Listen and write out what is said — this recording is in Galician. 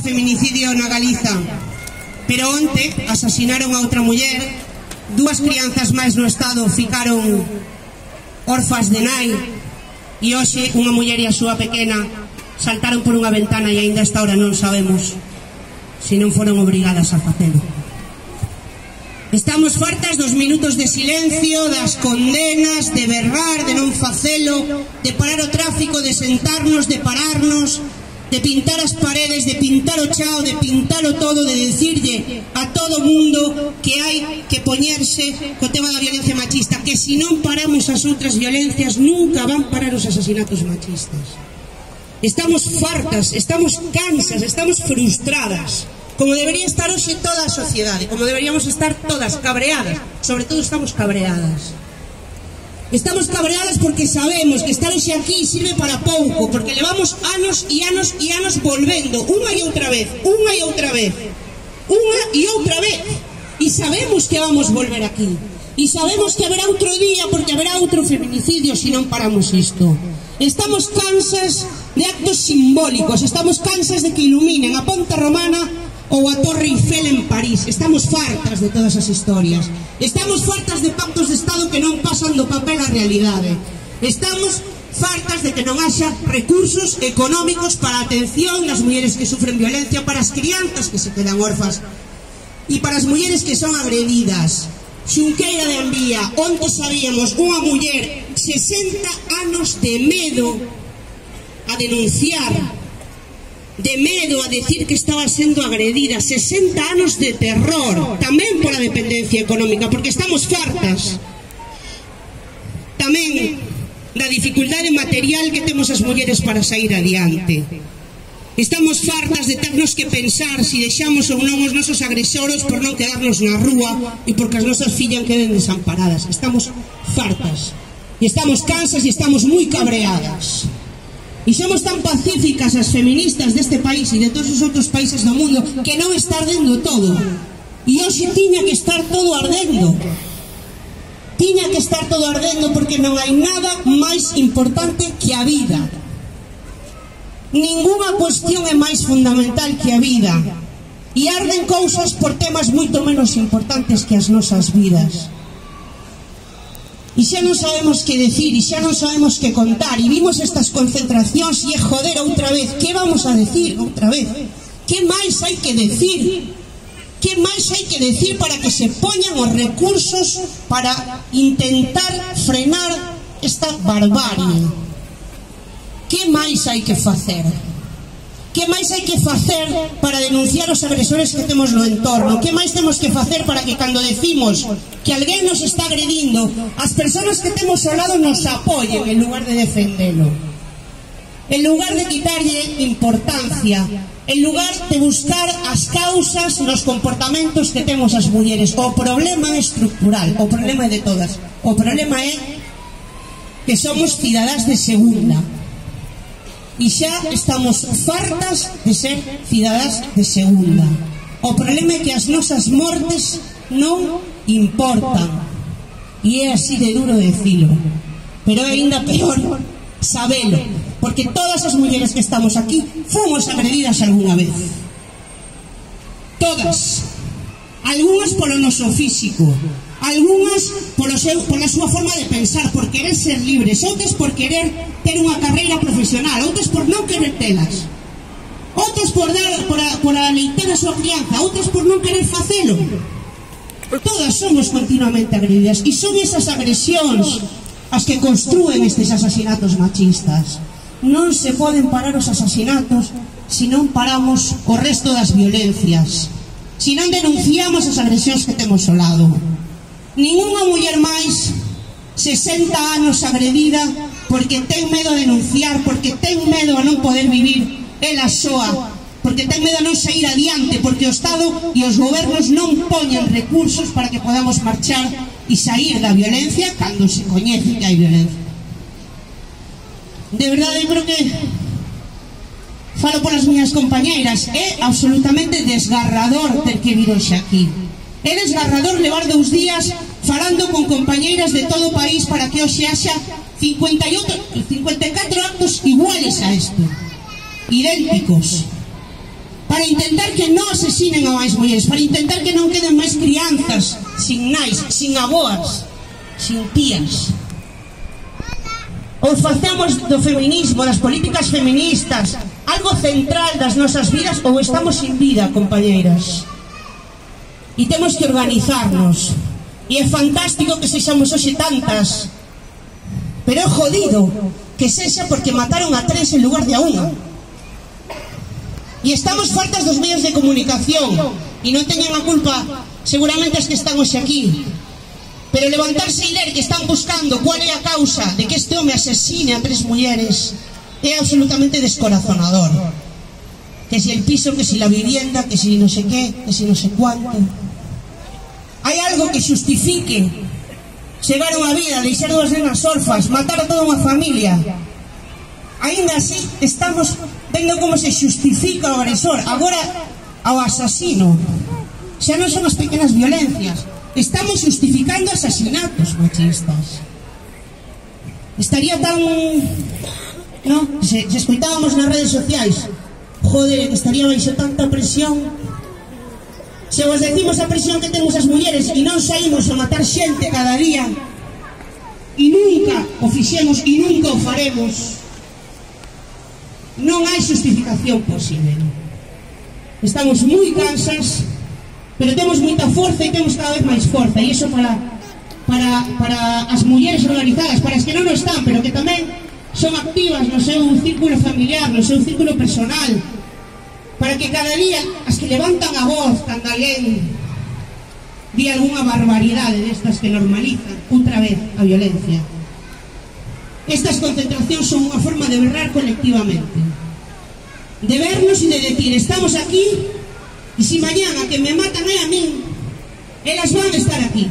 feminicidio na Galiza, pero onte asasinaron a outra muller, 2 crianzas máis no estado ficaron órfas de nai, e hoxe unha muller e a súa pequena saltaron por unha ventana e aínda esta hora non sabemos se non foron obrigadas a facelo. Estamos fartas dos minutos de silencio, das condenas, de berrar, de non facelo, de parar o tráfico, de sentarnos, de pararnos, de pintar as paredes, de pintar o chao, de pintalo todo, de decirlle a todo mundo que hai que poñerse co tema da violencia machista, que se non paramos as outras violencias nunca van parar os asasinatos machistas. Estamos fartas, estamos cansas, estamos frustradas, como debería estar hoxe toda a sociedade, como deberíamos estar todas cabreadas. Sobre todo estamos cabreadas. Estamos cabreadas porque sabemos que estar hoxe aquí sirve para pouco, porque levamos anos e anos e anos volvendo unha e outra vez, unha e outra vez, unha e outra vez, e sabemos que vamos volver aquí, e sabemos que haberá outro día, porque haberá outro feminicidio se non paramos isto. Estamos cansas de actos simbólicos, estamos cansas de que iluminen a Ponte Romana ou a Torre Eiffel en París. Estamos fartas de todas as historias, estamos fartas de pactos de Estado que non pasan do papel á realidade, estamos fartas de que non haxa recursos económicos para a atención das mulleres que sufren violencia, para as crianzas que se quedan órfas e para as mulleres que son agredidas. Xunqueira de Ambía, onde sabíamos unha muller 60 anos de medo a denunciar, de medo a decir que estaba sendo agredida, 60 anos de terror, tamén pola dependencia económica, porque estamos fartas tamén da dificultade material que temos as mulleres para sair adiante. Estamos fartas de ternos que pensar se deixamos ou non os nosos agresores por non quedarnos na rúa e porque as nosas fillas queden desamparadas. Estamos fartas e estamos cansas e estamos moi cabreadas. E somos tan pacíficas as feministas deste país e de todos os outros países do mundo que non está ardendo todo. E hoxe tiña que estar todo ardendo. Tiña que estar todo ardendo porque non hai nada máis importante que a vida. Ninguna cuestión é máis fundamental que a vida. E arden cousas por temas moito menos importantes que as nosas vidas. E xa non sabemos que decir, e xa non sabemos que contar, e vimos estas concentracións e joder outra vez, que vamos a decir outra vez? Que máis hai que decir? Que máis hai que decir para que se poñan os recursos para intentar frenar esta barbarie? Que máis hai que facer? Que máis hai que facer para denunciar os agresores que temos no entorno? Que máis temos que facer para que cando decimos que alguén nos está agredindo, as persoas que temos ao lado nos apoyen en lugar de defendelo? En lugar de quitarlle importancia, en lugar de buscar as causas nos comportamentos que temos as mulleres. O problema é estructural, o problema é de todas. O problema é que somos cidadás de segunda. E xa estamos fartas de ser cidadás de segunda. O problema é que as nosas mortes non importan. E é así de duro decilo. Pero é ainda peor sabelo, porque todas as mulleres que estamos aquí fomos agredidas algunha vez. Todas. Algúnas polo noso físico, algúnas pola súa forma de pensar, por querer ser libres, outras por querer ter unha carreira profesional, outras por non querer telas, outras por aleitar a súa crianza, outras por non querer facelo. Todas somos continuamente agredidas, e son esas agresións as que construen estes asasinatos machistas. Non se poden parar os asasinatos se non paramos o resto das violencias, se non denunciamos as agresións que temos ao lado. Ninguna muller máis 60 anos agredida porque ten medo a denunciar, porque ten medo a non poder vivir ela soa, porque ten medo a non sair adiante, porque o Estado e os gobernos non poñen recursos para que podamos marchar e sair da violencia cando se coñece que hai violencia. De verdade, eu creo que falo polas miñas compañeiras, é absolutamente desgarrador ter que vir hoxe aquí. É desgarrador levar 2 días falando con compañeiras de todo o país para que hoxe haxa 54 actos iguales a isto, idénticos. para intentar que non asesinen a máis mulleres, para intentar que non queden máis crianzas sin nais, sin aboas, sin tías. Ou facemos do feminismo, das políticas feministas, algo central das nosas vidas, ou estamos sin vida, compañeiras. E temos que organizarnos. E é fantástico que sexamos hoxe tantas, pero é jodido que sexa porque mataron a 3 en lugar de a 1. E estamos fartas dos medios de comunicación, e non teñen a culpa seguramente as que están hoxe aquí, pero levantarse e ler que están buscando cuál é a causa de que este home asesine a 3 mulleres é absolutamente descorazonador. Que si el piso, que si la vivienda, que si no sé qué, que si no sé cuánto. Hai algo que xustifique chegar a unha vida, deixar 2 nenas orfas, matar a toda unha familia? Ainda así estamos vendo como se xustifica o agresor, agora ao asasino. Xa non son as pequenas violencias, estamos xustificando asasinatos machistas. Estaría tan... no? Se escoitábamos nas redes sociais, joder, estaría baixo tanta presión. Se vos decimos a presión que temos as mulleres e non saímos a matar xente cada día, e nunca o fixemos e nunca o faremos, non hai justificación posible. Estamos moi cansas, pero temos moita forza e temos cada vez máis forza, e iso para as mulleres organizadas, para as que non o están, pero que tamén son activas no seu círculo familiar, no seu círculo personal, para que cada día as que levantan a voz cando alguén di algunha barbaridade destas que normalizan outra vez a violencia. Estas concentracións son unha forma de berrar colectivamente, de vernos e de decir, estamos aquí, e si mañana que me matan a min, elas van a estar aquí.